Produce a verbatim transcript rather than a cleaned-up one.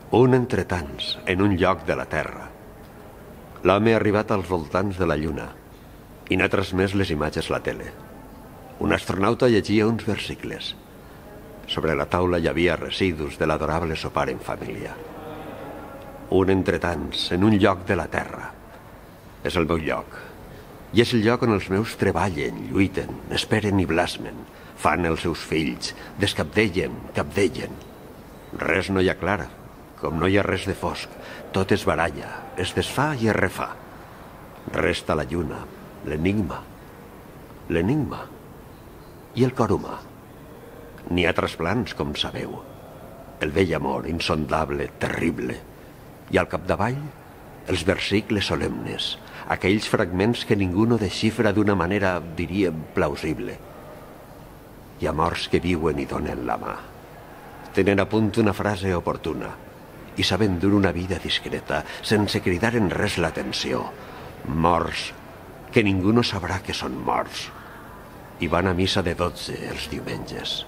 Un entre tants, en un lloc de la Terra. L'home ha arribat als voltants de la Lluna i n'ha transmès les imatges a la tele. Un astronauta llegia uns versicles. Sobre la taula hi havia residus de l'adorable sopar en família. Un entre tants, en un lloc de la Terra. És el meu lloc. I és el lloc on els meus treballen, lluiten, esperen i blasmen. Fan els seus fills, descabdellen, capdellen. Res no hi ha clara, com no hi ha res de fosc. Tot es baralla, es desfà i es refà. Resta la lluna, l'enigma. L'enigma. I el cor humà. N'hi ha trasplants, com sabeu. El vell amor, insondable, terrible. I al capdavall, els versicles solemnes, aquells fragments que ningú no desxifra d'una manera, diríem, plausible. Hi ha morts que viuen i donen la mà. Tenen a punt una frase oportuna i saben dur una vida discreta, sense cridar en res l'atenció. Morts que ningú no sabrà que són morts. I van a missa de dotze els diumenges.